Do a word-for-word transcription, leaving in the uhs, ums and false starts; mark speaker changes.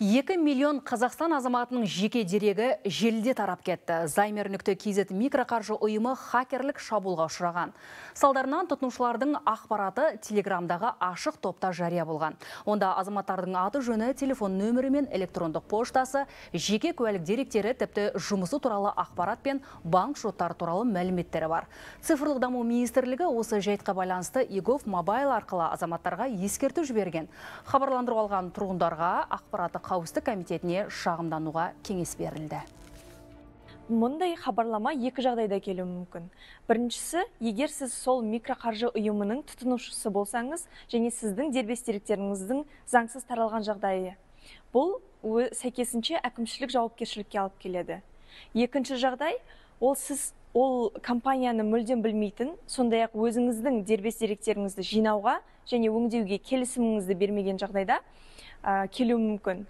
Speaker 1: екі миллион Қазақстан азаматының жеке дерегі желіде тарап кетті. Займер нүкте кз микроқаржы ұйымы хакерлік шабуылға ұшыраған. Салдарынан тұтынушылардың ақпараты Телеграмдағы ашық топта жария болған. Онда азаматтардың аты жөні, телефон нөмірі мен электрондық поштасы, жеке куәлік деректері, тіпті жұмысы туралы ақпарат пен банк шоттары туралы мәліметтері бар. Цифрлық даму министрлігі осы жайтқа байланысты e-gov мобайл арқылы азаматтарға ескерту жіберген. Хабарландыру алған тұрғындарға ақпараты қауіпсіздік комитетіне шағымдануға кеңес берілді.
Speaker 2: Мұндай хабарлама екі жағдайда келуі мүмкін. Біріншісі, егер сіз сол микроқаржы ұйымының тұтынушысы болсаңыз, және сіздің дербес деректеріңіздің заңсыз таралған жағдайы. Бұл сәйкесінше әкімшілік жауапкершілікке алып келеді. Екінші жағдай, ол сіз ол компанияны мүлдем білмейтін, сондай-ақ өзіңіздің дербес деректеріңізді жинауға және өңдеуге келісіміңізді бермеген жағдайда келуі мүмкін.